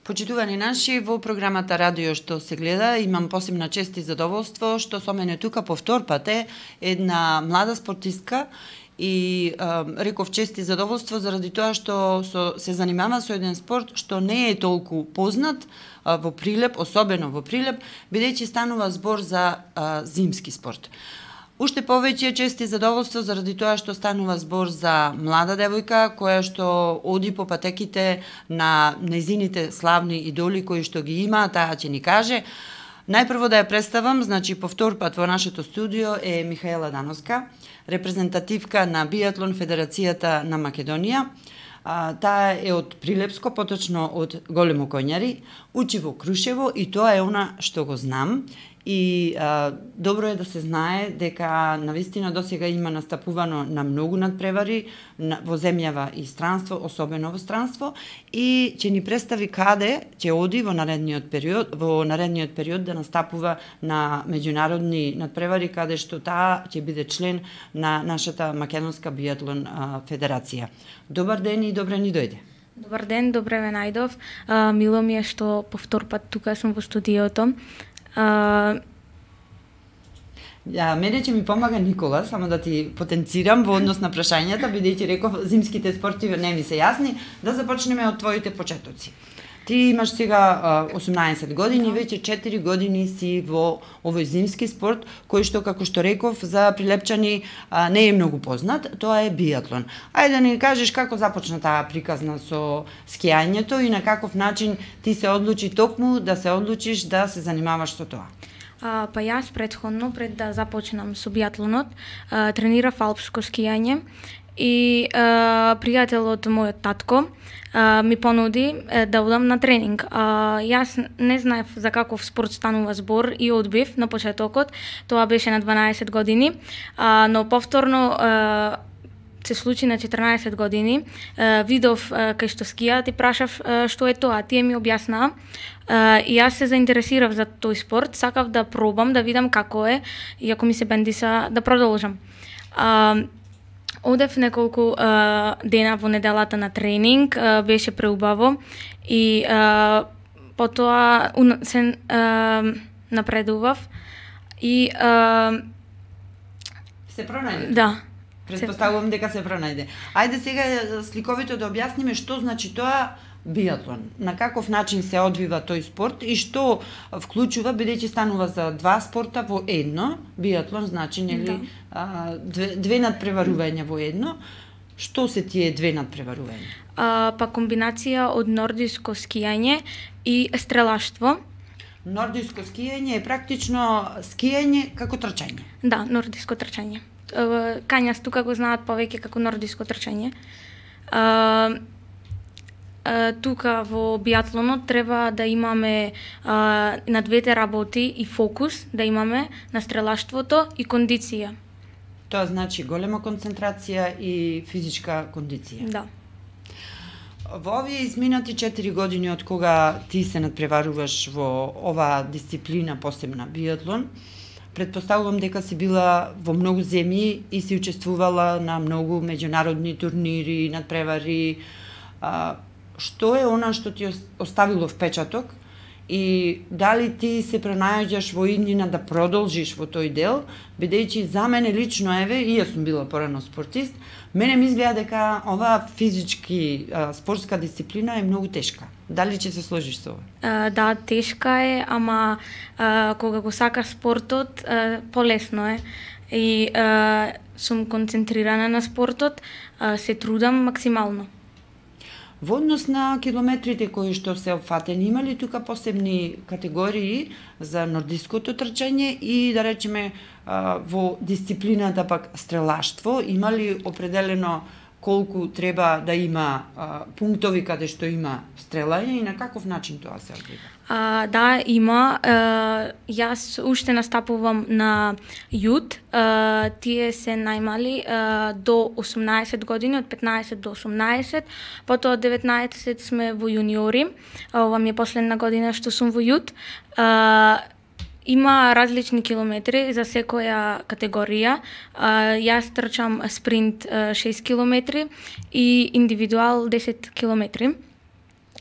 Почитувани наши, во програмата Радио што се гледа, имам посебна чест и задоволство што со мене тука по втор пат е една млада спортистка и реков чест и задоволство заради тоа што се занимава со еден спорт што не е толку познат во Прилеп, особено во Прилеп, бидејќи станува збор за зимски спорт. Уште повеќе чест и задоволство заради тоа што станува збор за млада девојка која што оди по патеките на нејзините славни идоли кои што ги има, таа ќе ни каже. Најпрво да ја представам, значи по втор пат во нашето студио е Михаела Дановска, репрезентативка на биатлон Федерацијата на Македонија. Таа е од Прилепско, поточно од Големо Коњари, учи во Крушево и тоа е она што го знам. И добро е да се знае дека навистина досега има настапувано на многу надпревари во земјава и странство, особено во странство, и ќе ни представи каде ќе оди во наредниот период да настапува на меѓународни надпревари каде што таа ќе биде член на нашата Македонска биатлон федерација. Добар ден и добре ни дојде. Добар ден, добре ве најдов. Мило ми е што по втор пат тука сум во студиото. Мене ќе ми помага Никола, само да ти потенцирам во однос на прашањата, бидејќи реков зимските спорти не ми се јасни, да започнеме од твоите почетоци. Ти имаш сега 18 години, веќе 4 години си во овој зимски спорт, кој што, како што реков, за прилепчани не е многу познат, тоа е биатлон. Ајде да ни кажеш како започна таа приказна со скијањето и на каков начин ти се одлучи токму да се одлучиш да се занимаваш со тоа? Па јас предходно, пред да започнам со биатлонот, тренирав алпско скијање и пријател од мојот татко ми понуди да одам на тренинг. Јас не знаев за каков спорт станува збор и одбив на почетокот, тоа беше на 12 години, но повторно се случи на 14 години, видов кај што скијаат и прашав што е тоа, тие ми објаснаа и јас се заинтересирав за тој спорт, сакав да пробам, да видам како е и ако ми се бендиса да продолжам. Одев неколку дена во неделата на тренинг, беше преубаво и потоа се напредував и се пронајде? Да. Предпоставувам дека се пронајде. Ајде сега сликовито да објасниме што значи тоа биатлон, на каков начин се одвива тој спорт и што вклучува, бидејќи станува за два спорта во едно. Биатлон значи нели две надпреварувања во едно. Што се тие две надпреварувања? Па комбинација од нордиско скијање и стрелаштво. Нордиско скијање е практично скијање како трчање. Да, нордиско трчање. Кањас тука го знаат повеќе како нордиско трчање. Тука во биатлонот треба да имаме на двете работи и фокус, да имаме на стрелаштвото и кондиција. Тоа значи голема концентрација и физичка кондиција. Да. Во овие изминати 4 години од кога ти се надпреваруваш во оваа дисциплина посебна биатлон, предпоставувам дека си била во многу земји и си учествувала на многу меѓународни турнири, надпревари. Што е она што ти оставило впечаток и дали ти се пронајаѓаш во иднина да продолжиш во тој дел, бидејќи за мене лично, еве, и јас сум била порано спортист, мене ми изгледа дека оваа физички спортска дисциплина е многу тешка. Дали ќе се сложиш со ова? Да, тешка е, ама кога го сакаш спортот, полесно е. И сум концентрирана на спортот, се трудам максимално. Во однос на километрите кои што се опфатени, има ли тука посебни категории за нордиското трчање и да речеме во дисциплината пак стрелаштво, има ли определено колку треба да има пунктови каде што има стрелање и на каков начин тоа се одвива? Да, има. Јас уште настапувам на јут. Тие се најмали до 18 години, од 15 до 18. Потоа од 19 сме во јуниори. Ова ми е последна година што сум во јут. Има различни километри за секоја категорија. Јас трчам спринт 6 километри и индивидуал 10 километри.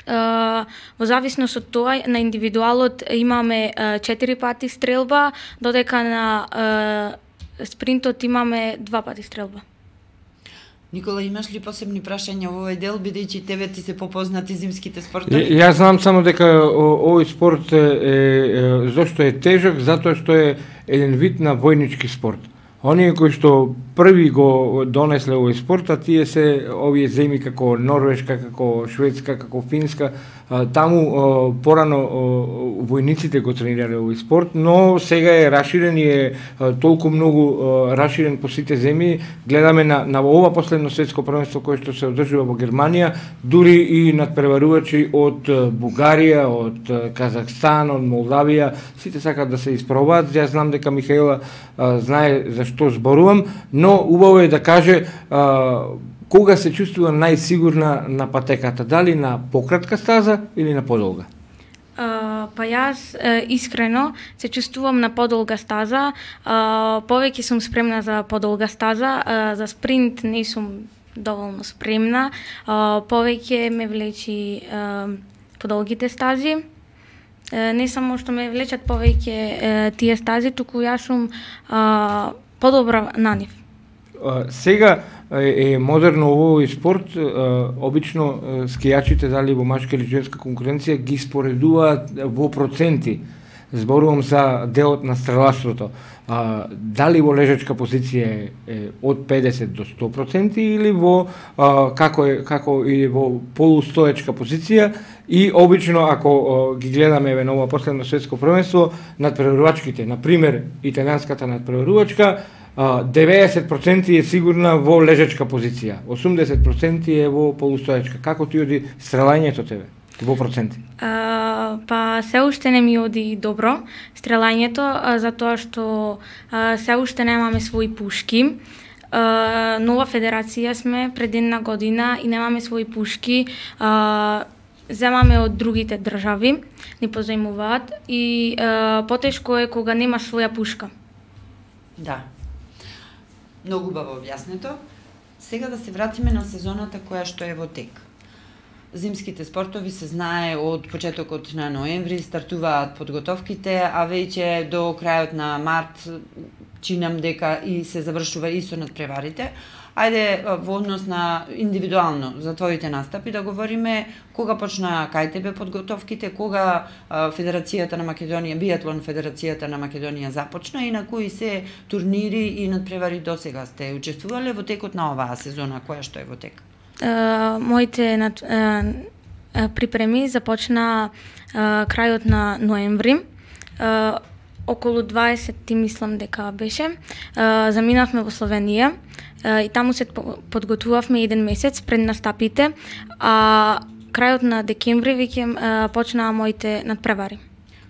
Во зависност од тоа, на индивидуалот имаме 4 пати стрелба, додека на спринтот имаме 2 пати стрелба. Никола, имаш ли посебни прашања во овој дел, бидејќи тебе ти се попознати зимските спортови? Јас знам само дека овој спорт зошто е тежок, затоа што е еден вид на војнички спорт. Оние кои што први го донесле овој спорт, а тие се овие земји како Норвешка, како Шведска, како Финска, таму порано војниците го тренирале овој спорт, но сега е расширен и е толку многу расширен по сите земји. Гледаме на ова последно светско првенство кое што се одржува во Германија, дури и надпреварувачи од Бугарија, од Казахстан, од Молдавија, сите сакаат да се испробаат. Јас знам дека Михаела знае за што зборувам, но убаво е да каже кога се чувствува најсигурна на патеката, дали на пократка стаза или на подолга? Па јас искрено се чувствувам на подолга стаза, повеќе сум спремна за подолга стаза, за спринт не сум доволно спремна, повеќе ме влечи подолгите стази. Не само што ме влечат повеќе тие стази, туку јас сум подобра на нив. Сега е модерно овој спорт, обично скијачите, дали во машка или женска конкуренција, ги споредуваат во проценти. Зборувам за делот на стрелаштвото. Дали во лежачка позиција е од 50 до 100% или во како или во полустоечка позиција, и обично ако ги гледаме на ова последно светско првенство, надпреварувачките, на пример италијанската надпреварувачка, 90% е сигурна во лежачка позиција, 80% е во полустоечка. Како ти оди стрелањето тебе во проценти? Па се уште не ми оди добро стрелањето, затоа што се уште немаме своји пушки. Нова федерација сме пред една година и немаме своји пушки. Земаме од другите држави, ни позајмуваат и потешко е кога нема своја пушка. Да. Многу убаво објаснето. Сега да се вратиме на сезоната која што е во тек. Зимските спортови се знае од почетокот на ноември стартуваат подготовките, а веќе до крајот на март чинам дека и се завршува и со надпреварите. Ајде во однос на индивидуално за твоите настапи да говориме, кога почна кај тебе подготовките, кога Федерацијата на Македонија, биатлон Федерацијата на Македонија започна и на кои се турнири и надпревари досега сте учествувале во текот на оваа сезона која што е во тек? Моите припреми започна крајот на ноември. Околу 20 мислам дека беше. Заминавме во Словенија и таму се подготвувавме еден месец пред настапите, а крајот на декември веќе почнаа моите надпревари.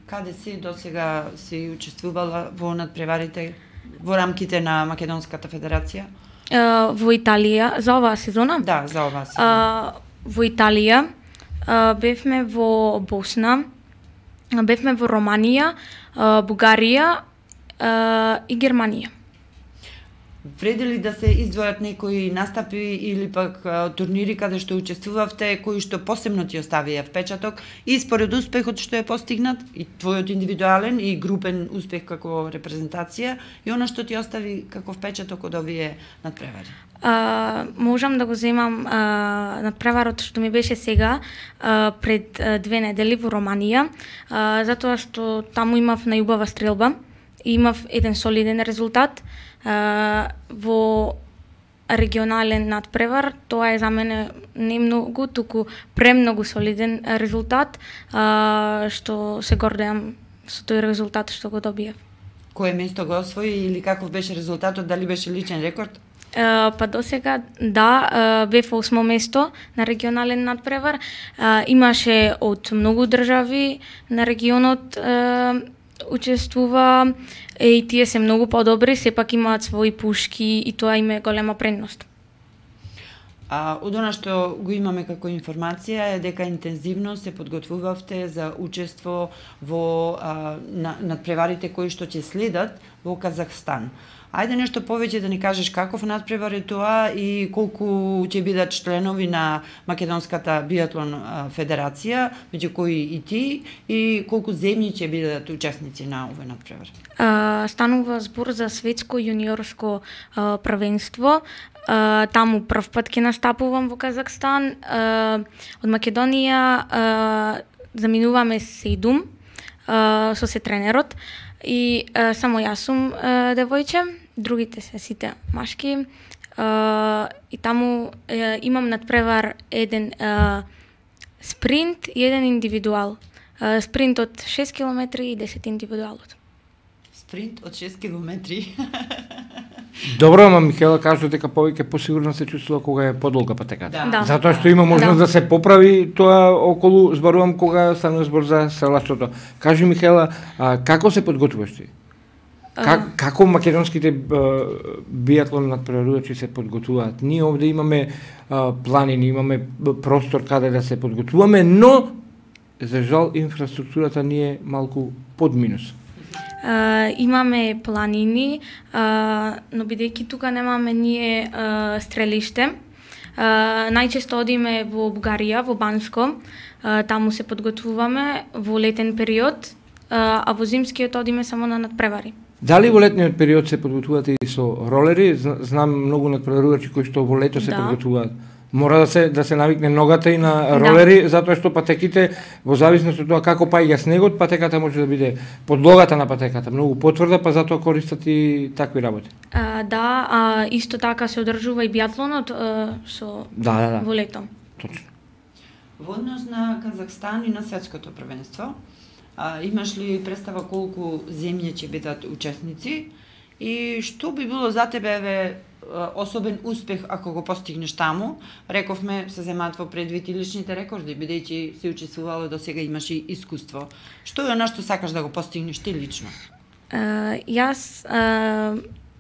Каде си досега си учествувала во надпреварите во рамките на Македонската федерација? Во Италија, за оваа сезона? Да, за оваа сезона. Во Италија, бевме во Босна, бевме во Романија, Бугарија и Германија. Вреди ли да се издвојат некои настапи или пак турнири каде што учествувавте, кои што посебно ти оставија впечаток и според успехот што е постигнат, и твојот индивидуален и групен успех како репрезентација, и она што ти остави како впечаток од овие надпревари? Можам да го земам надпреварот што ми беше сега пред 2 недели во Романија, затоа што таму имав најубава стрелба и имав еден солиден резултат. Во регионален надпревар, тоа е за мене не многу, туку премногу солиден резултат, што се гордеам со тој резултат што го добиев. Кое место го освои или каков беше резултатот, дали беше личен рекорд? Па досега да, бев 8 место на регионален надпревар. Имаше од многу држави на регионот учествува и тие се многу подобри, сепак имаат своји пушки и тоа им е голема предност. Од она што го имаме како информација е дека интензивно се подготвувавте за учество во надпреварите кои што ќе следат во Казахстан. Ајде нешто повеќе да ни кажеш каков надпревар е тоа и колку ќе бидат членови на Македонската биатлон федерација, меѓу кои и ти, и колку земји ќе бидат учесници на овој надпревар. Станува збор за светско јуниорско првенство. Таму прв пат ќе настапувам во Казахстан. Од Македонија заминуваме 7 со се тренерот и само јас сум девојче, другите се сите машки. И таму имам надпревар еден спринт и еден индивидуал. Спринтот 6 км и 10 индивидуалот. Спринт од 6 километри. Добро, ама Михаела кажа дека повеќе посигурно се чувствува кога е подолга патеката. Да. Затоа што има можност да се поправи тоа околу, зборувам кога станува збор за селашното. Кажи Михаела, како се подготвуваш ти? Како македонските биатлон надпреварувачи се подготвуваат? Ние овде имаме планини, имаме простор каде да се подготвуваме, но за жал инфраструктурата ни е малку под минус. Имаме планини, но бидејќи тука немаме ние стрелиште, најчесто одиме во Бугарија, во Банско, таму се подготвуваме во летен период, а во зимскиот одиме само на надпревари. Дали во летниот период се подготвувате и со ролери? Знам многу надпреварувачи кои што во лето се подготвуваат. Мора да се навикне ногата и на ролери, затоа што патеките, во зависност од тоа како паѓа снегот, патеката може да биде подлогата на патеката многу потврда, па затоа користат и такви работи. Исто така се одржува и биатлонот со во лето. Точно. Во однос на Казахстан и на светското првенство, имаш ли представа колку земји ќе бидат учесници и што би било за тебе особен успех ако го постигнеш таму? Рековме се земаат во предвид и личните рекорди, бидејќи се учествувало до сега, имаш и искуство. Што е она што сакаш да го постигнеш ти лично? Јас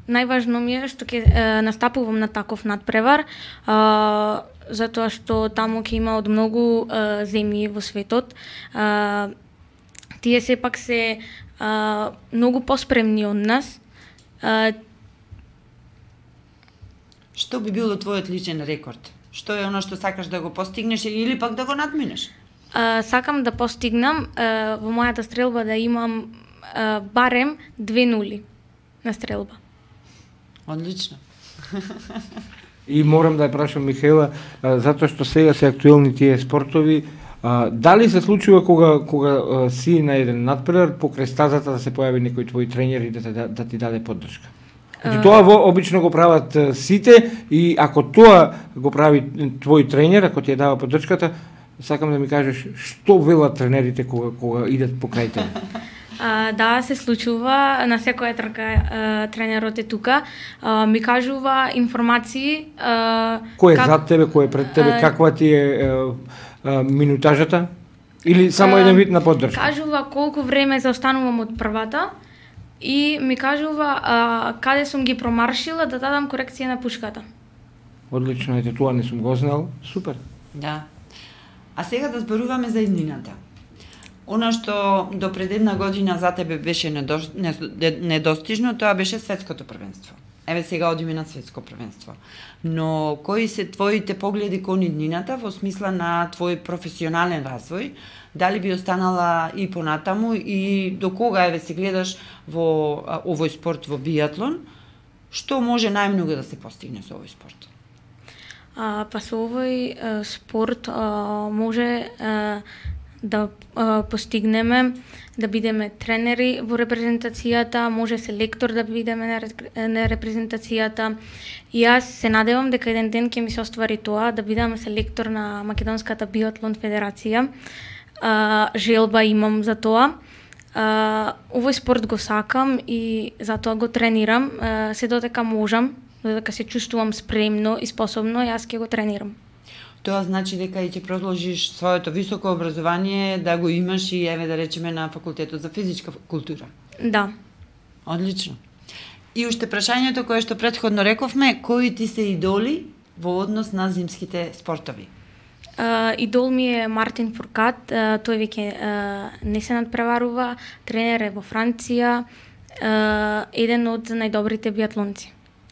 најважно ми е што ќе настапувам на таков надпревар, затоа што таму ќе има од многу земји во светот. Тие сепак се многу поспремни од нас. Што би било твојот личен рекорд? Што е оно што сакаш да го постигнеш или пак да го надминеш? Сакам да постигнам во мојата стрелба да имам барем 2 нули на стрелба. Одлично. И морам да ја прашам Михаела, затоа што сега се актуелни тие спортови, дали се случува кога си на еден надпревар покрај стазата да се појави некој твој тренер и да ти даде поддршка? Тоа обично го прават сите и ако тоа го прави твој тренер, ако ти ја дава поддршката, сакам да ми кажеш што велат тренерите кога идат покрај тебе? Да, се случува, на секоја трка тренерот е тука, ми кажува информации. Кој е зад тебе, кој е пред тебе, каква ти е минутажата? Или само еден вид на поддршка? Кажува колку време заостанувам од првата и ми кажува каде сум ги промаршила да дадам корекција на пушката. Одлично, ете тоа не сум го знал, супер. Да. А сега да зборуваме за иднината. Она што до пред една година за тебе беше недостижно, тоа беше светското првенство. Еве сега одиме на светско првенство. Но кои се твоите погледи кон иднината во смисла на твој професионален развој? Дали би останала и понатаму и до кога еве се гледаш во овој спорт, во биатлон? Што може најмногу да се постигне со овој спорт? Па со овој спорт може да постигнеме да бидеме тренери во репрезентацијата, може селектор да бидеме на репрезентацијата. И јас се надевам дека еден ден ќе ми се оствари тоа, да бидам селектор на Македонската биатлон федерација. Желба имам за тоа. Овој спорт го сакам и затоа го тренирам. Се додека можам, додека се чувствувам спремно и способно, јас ќе го тренирам. Тоа значи дека и ќе продолжиш своето високо образование, да го имаш и еве да речеме на факултетот за физичка култура. Да. Одлично. И уште прашањето кое што претходно рековме, кои ти се идоли во однос на зимските спортови? Идол ми е Мартин Фуркат, тој веќе не се надпреварува, тренер е во Франција еден од најдобрите биатлонци.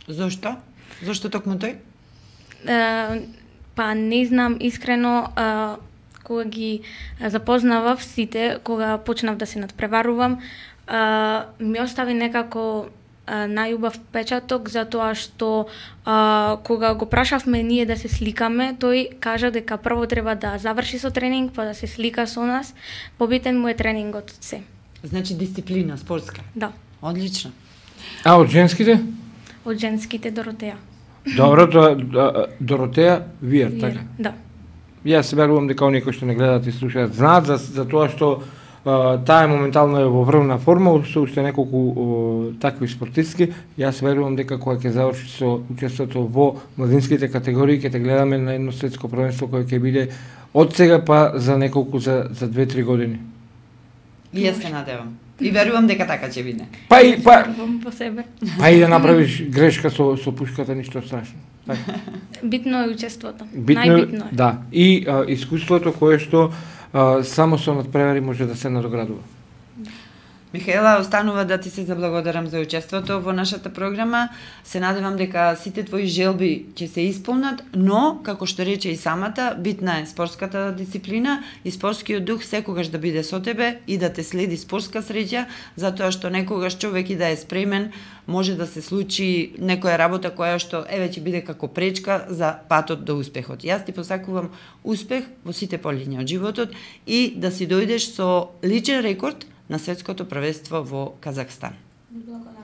Зошто? Зошто токму тој? Па не знам искрено, кога ги запознавав сите, кога почнав да се надпреварувам, ми остави некако најубав печаток, затоа што кога го прашавме ние да се сликаме, тој кажа дека прво треба да заврши со тренинг, па да се слика со нас. Побитен му е тренингот од се. Значи дисциплина спортска. Да. Одлично. А од женските? Од женските Доротеја. Добро, Доротеја Виер, така? Да. Јас се верувам дека оние кои што не гледаат и слушаат знаат за тоа што таа моментално е во врвна форма, со уште неколку такви спортистки. Јас верувам дека кога ќе заврши со учеството во младинските категории, ќе те гледаме на едно светско првенство кое ќе биде од сега па за неколку за 2-3 години. И јас се надевам. И верувам дека така ќе биде. Па и по себе. Па и да направиш грешка со пушката, ништо страшно. Така. Битно е учеството. Најбитно е. Да. И искуството кое што само со надпревари може да се надоградува. Михаела, останува да ти се заблагодарам за учеството во нашата програма. Се надевам дека сите твои желби ќе се исполнат, но, како што рече и самата, битна е спортската дисциплина и спортскиот дух секогаш да биде со тебе и да те следи спортска среќа, затоа што некогаш човек и да е спремен, може да се случи некоја работа која што еве ќе биде како пречка за патот до успехот. Јас ти посакувам успех во сите полиња од животот и да си дојдеш со личен рекорд на светското првенство во Казахстан. Благодарам.